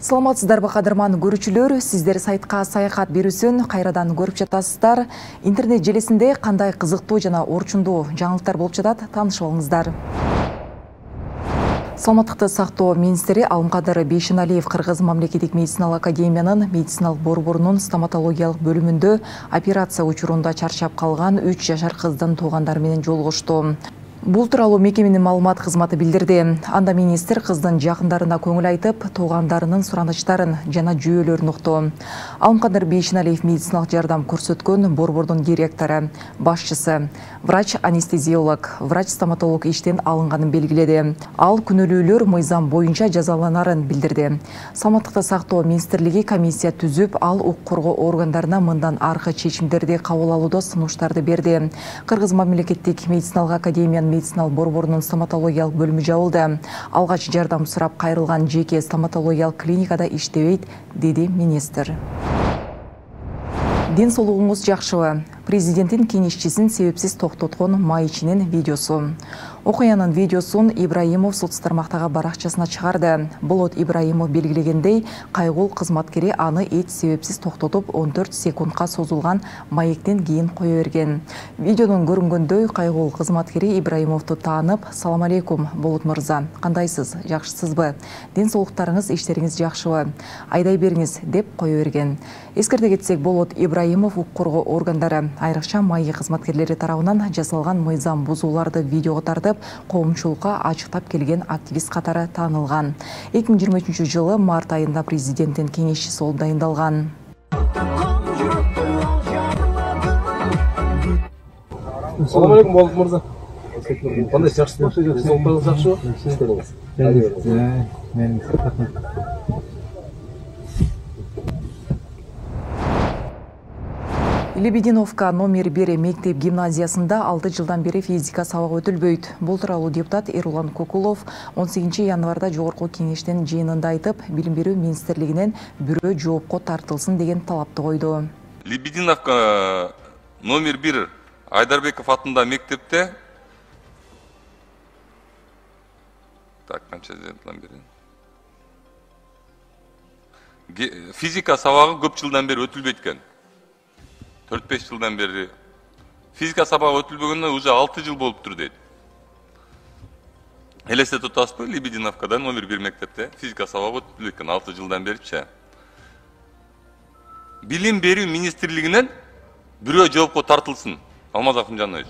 Саламатсыздарбы кадырман көрүүчүлөр, сиздер сайтка саякат берүүсүн кайрадан көрүп жатасыздар. Интернет желисинде кандай кызыктуу жана орчундуу жаңылыктар болуп жатат, таанышып алыңыздар. Саламаттыкты сактоо министри Алымкадыр Бейшеналиев Кыргыз мамлекеттик медициналык академиянын медициналык борборунун стоматологиялык бөлүмүндө операция учурунда чарчап калган 3 жашар кыздын туугандары менен жолугушту. Бул тууралуу мекеменин маалымат кызматы билдирди. Анда министр кыздын жакындарына көңүл айтып, туугандарынын суранычтарын жана жүйөлөрүн укту. Алымкадыр Бейшеналиев медициналык жардам көрсөткөн борбордун директору, башчысы, врач-анестезиолог, врач-стоматолог иштен алынганын белгиледи. Ал күнөөлүүлөр мыйзам боюнча жазаланарын билдирди. Саламаттыкты сактоо министрлиги комиссия түзүп, ал укук коргоо органдарына мындан аркы чечимдерди кабыл алууда сунуштарды берди. Кыргыз мамлекеттик медициналык академиянын медициналык борборунун стоматологиялык бөлүмү жабылды. Алгач жардам сурап кайрылган жеке стоматологиялык клиникада иштебейт, деди министр. Ден соолугуңуз жакшыбы? Президенттин кеңешчисин себепсиз токтоткон майчинин видеосу. Окуянын видеосун Ибраимов соц тармактагы баракчасына чыгарды. Болот Ибраимов белгилегендей, кайгул кызматкери аны эч себепсиз токтотуп 14 секундка созулган маектен кийин кое берген. Видеодон көрүнгөндөй, кайгул кызматкери Ибраимовду таанып, "Салам алейкум, Болот мырза. Кандайсыз? Жакшысызбы? Ден соолуктарыңыз, иштериңиз жакшыбы? Айдай бериңиз" деп кое берген. Эскерте кетсек, Болот Ибраимов укук коргоо органдары, айрыкча майы кызматкерлери тарабынан жасалган мыйзам бузууларды видеого тартып, коомчулукка ачыктап келген активист катары таанылган. 2023 жылы март айында президенттин кеңешчиси болуп дайындалган. Салам алейкум, Болот мырза. Кандайсыз, жакшысызбы? Денсаулыктарыңыз жакшыбы? Лебединовка номер 1 мектеп гимназиясында 6 жылдан бери физика сабагы өтүлбөйт. Бул тууралуу депутат Эрулан Кокулов 18 январда жогорку кеңештин жыйынында айтып, билим берүү министрлигинен бирөө жоопко тартылсын деген талапты койду. Лебединовка номер 1 Айдарбеков атында мектепте физика сабагы көп жылдан бери өтүлбөйт экен. 4-5 жылдан бери физика сабагы өтүлбөгөнүнө уже 6 жыл болуптур дейт. Элестетип атасызбы? Лебединовкада номер 1 мектепте физика сабагы өтүлбөйт экен 6 жылдан беричи. Билим берүү министрлигинен бирөө жоопко тартылсын. Алмаз Акынжанович.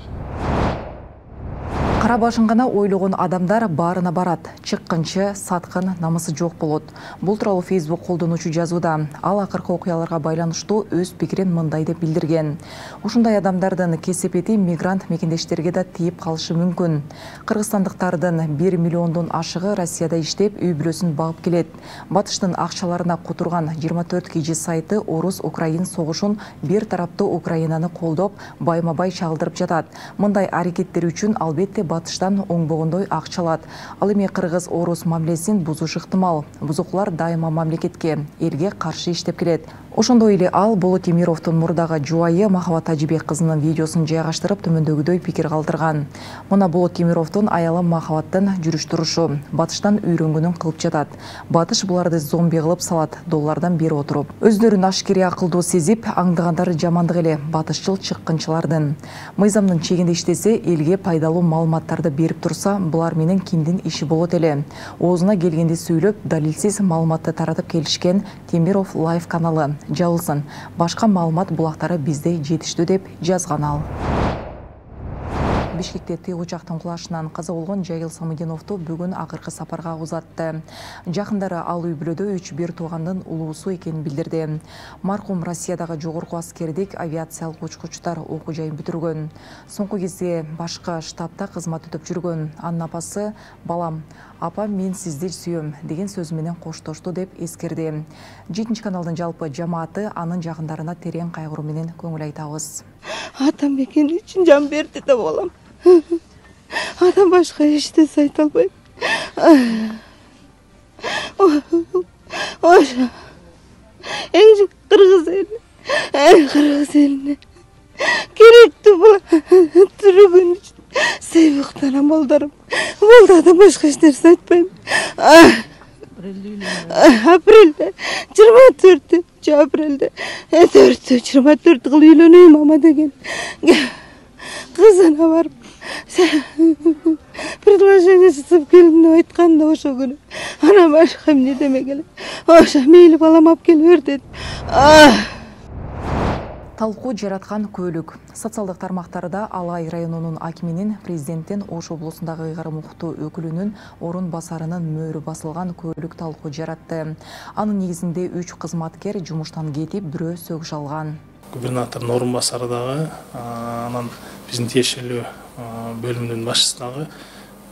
Кара башын гана ойлогон адамдар баарына барат. Чыккынчы, саткын, намысы жок болот. Бул тууралуу Facebook колдонуучу жазууда. Ал акыркы окуяларга байланыштуу өз пикирин мындай деп билдирген. Ушундай адамдардын кесепети мигрант мекендештерге да тийип калышы мүмкүн. Кыргызстандыктардын 1 миллиондон ашыгы Россияда иштеп, үй бүлөсүн багып келет. Батыштын акчаларына кутурган 24 кж сайты орус-украин согушун бир тараптуу Украинаны колдоп, байма-бай чагылдырып жатат. Мындай аракеттер үчүн албетте батыштан оңбогондой акча алат. Ал эми кыргыз-орус мамилесин бузуш ыктымал. Бузукулар дайыма мамлекетке, элге каршы иштеп келет. Ошондой эле ал Болот Темировдун мурдагы жубайы Махабат Тажибек кызынын видеосун жайгаштырып, төмөндөгүдөй пикир калтырган. Мына Болот Темировдун аялы Махабаттын жүрүш турушу, батыштан үйрөнгөнүн кылып жатат. Батыш буларды зомби кылып салат, доллардан бери отуруп. Өздөрүн ашкере акылдуу сезип, аңдыгандары жамандык эле батышчыл чыккынчылардын. Мыйзамдын чегинде иштесе, элге пайдалуу маалыматтарды берип турса, булар менен кимдин иши болот эле. Оозуна келгенди сүйлөп, далилсиз маалыматты таратып келишкен Темиров Лайв каналы жабылсын. Башка маалымат булактары бизде жетиштүү деп жазган ал. Бишкекте тыйгучактын кулашынан каза болгон Жайыл Самыдиновду бүгүн акыркы сапарга узатты. Жакындары ал үй бүлөдө 3 туугандын улуусу экенин билдирди. Маркум Россиядагы жогорку аскердик авиациялык учкучтар окуу жайын бүтүргөн. Соңку кезде башка штабта кызмат өтөп жүргөн. Анын апасы "Балам, апа мен сизди сүйөм" деген сөзү менен коштошту деп эскерди. 7 каналдын жалпы жамааты анын жакындарына терең кайгыруу менен көңүл айтабыз. Атам экени үчүн жан берди да балам. Адам башка эч нерсе айта албайм. Эң кыргыз элине керектүү бул түрүгөн үчүн Сейбуктан амалдарым. Болды башка эч нерсе айтпайм. Апрелде 24 апрелде 24 кылып үйлөнөйм мама деген кызына барып предложение жасап келдим деп айткан да ошол күнү. Анан башка эмне демек эле. Ошо мейли балам алып келе бер деди. Талкуу жараткан көйлүк. Социалдык тармактарда Алай районунун акиминин президенттин Ош облусундагы ыйгарым укуктуу өкүлүнүн орун басарынын мөөрү басылган көйлүк талкуу жаратты. Анын негизинде 3 кызматкер жумуштан кетип, бирөө сөгүш алган. Губернатордун орун басары дагы, анан биздин тиешелүү бөлүмдүн башчысы дагы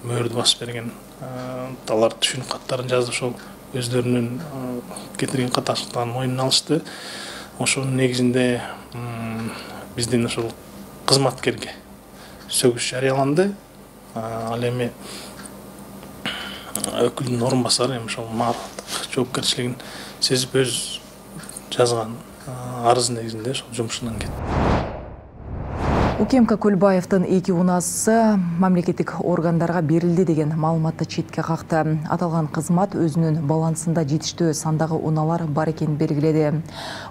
мөөрдү басып берген. Алар түшүнүк каттарын жазып, ошол өздөрүнүн кетирген каташтыктарын мойнуна алышты. Ошонун негизинде биздин ошол кызматкерге сөгүш жарыяланды. Ал эми өкүлдүн орун басары эми ошол маалыматтык жоопкерчилигин сезип өз жазган арыз негизинде ошол жумушунан кетти. УКМК Көлбаевдин 2 унаасы мамлекеттик органдарга берилди деген маалыматты четке какты. Аталган кызмат өзүнүн балансында жетиштүү сандагы унаалар бар экенин белгиледи.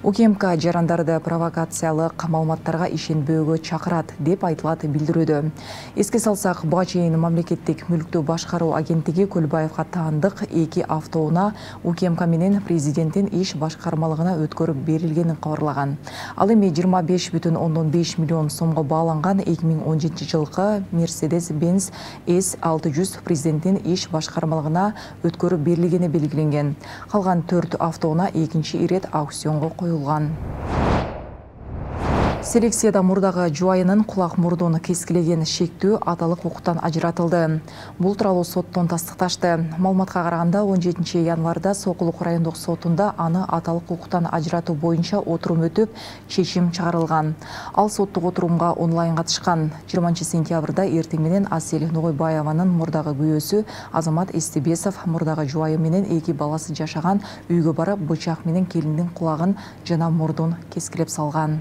УКМК жарандарды провокациялык маалыматтарга ишенбөөгө чакырат деп айтылат билдирүүдө. Эске салсак, буга чейин мамлекеттик мүлктү башкаруу агенттиги Көлбаевга таандык 2 автоунаа УКМК менен президенттин иш башкармалыгына өткөрүп берилгенин кабарлаган. Ал эми 25,5 миллион сомго аланган 2017 жылкы Mercedes-Benz S600 президенттин иш башкармалыгына өткөрүп берилгени белгиленген. Калган 4 автоунаа экинчи ирет аукционго коюлган. Селекцияда мурдагы жубайынын кулак-мурдун кескилеген шектүү аталык укуктан ажыратылды. Бул тууралуу соттон тастыкташты. Маалыматка караганда 17 январда Сокулук райондук сотунда аны аталык укуктан ажыратуу боюнча отурум өтүп, чечим чыгарылган. Ал соттук отурумга онлайн катышкан. 20 сентябрда эртең менен Асель Ногойбаеванын мурдагы күйөөсү Азамат Эстебесов мурдагы жубайы менен 2 баласы жашаган үйгө барып, бычак менен келиндин кулагын жана мурдун кескилеп салган.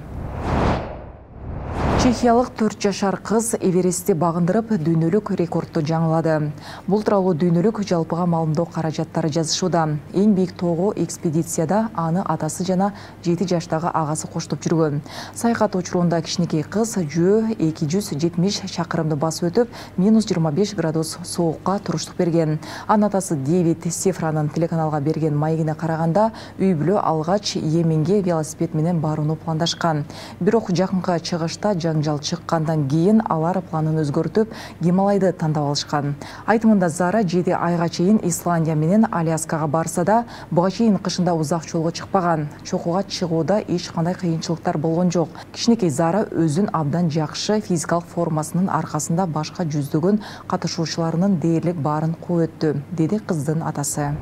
Чехиялык 4 жашар кыз Эверестти багындырып, дүйнөлүк рекордду жаңылады. Бул тууралуу дүйнөлүк жалпыга маалымдоо каражаттары жазышууда. Эң бийик тоого экспедицияда аны атасы жана 7 жаштагы агасы коштоп жүргөн. Саякат учурунда кичинекей кыз жөө 270 чакырымды басып өтүп, -25 градус соокка туруштук берген. Анын атасы Дэвид Сефранын телеканалга берген маегине караганда, үй бүлө алгач Йеменге велосипед менен барууну пландашкан. Бирок жакынкы чыгышта жаңжал чыккандан кийин алар планын өзгөртүп, Гималайды тандап алышкан. Айтымында Зара 7 айга чейин Исландия менен Аляскага барса да, буга чейин кышында узак жолго чыкпаган. Чокуга чыгууда эч кандай кыйынчылыктар болгон жок. Кичинекей Зара өзүн абдан жакшы физикалык формасынын аркасында башка жүздөгөн катышуучуларынын дээрлик баарын кууп өттү, деди кыздын атасы.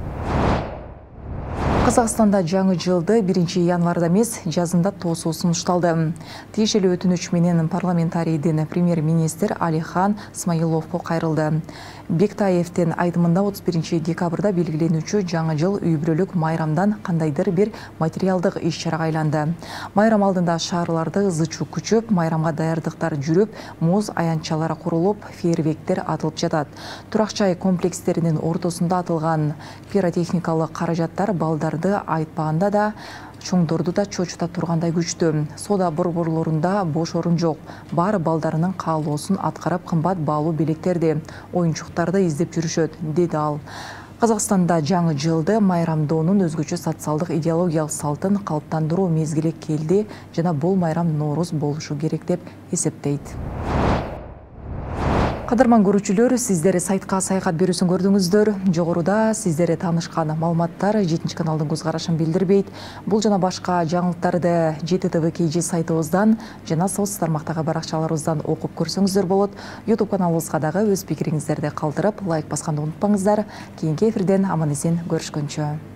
Казакстанда жаңы жылды 1 январда эмес, жазында тоосуу сунушталды. Тиешелүү өтүнүч менен парламентарийдин премьер-министр Алихан Смаиловго кайрылды. Бектаевдин айтымында 31 декабрда белгиленүүчү жаңы жыл үй бүлөлүк майрамдан кандайдыр бир материалдык иш-чарага айланды. Майрам алдында шаарларды ызы-чуу күчөп, майрамга даярдыктар жүрүп, муз аянтчалары курулуп, фейерверктер атылып жатат. Турак-жай комплекстеринин ортосунда атылган пиротехникалык каражаттар балдарды айтпаганда да, чоңдорду да чочута тургандай күчтүү. Соода борборлорунда бош орун жок. Баары балдарынын каалоосун аткарып, кымбат баалуу белектерди, оюнчуктарды издеп жүрүшөт, деди ал. Казакстанда жаңы жылды майрамдоонун өзгөчө социалдык идеологиялык салтын калыптандыруу мезгили келди жана бул майрам Ноорус болушу керек деп эсептейт. Кадырман көрүүчүлөр, сиздер сайтка саякат берүүсүн көрдүңүздөр. Жогоруда сиздер таанышкан маалыматтар 7 каналдын көз карашын билдирбейт. Бул жана башка жаңылыктарды ЖТТВ KG сайтыбыздан жана соц тармактагы баракчаларыбыздан окуп көрсөңүздөр болот. YouTube каналыбызга дагы өз пикириңиздерди калтырып, лайк басканды унутпаңыздар. Кийинки эфирден аман-эсен көрүшкөнчө.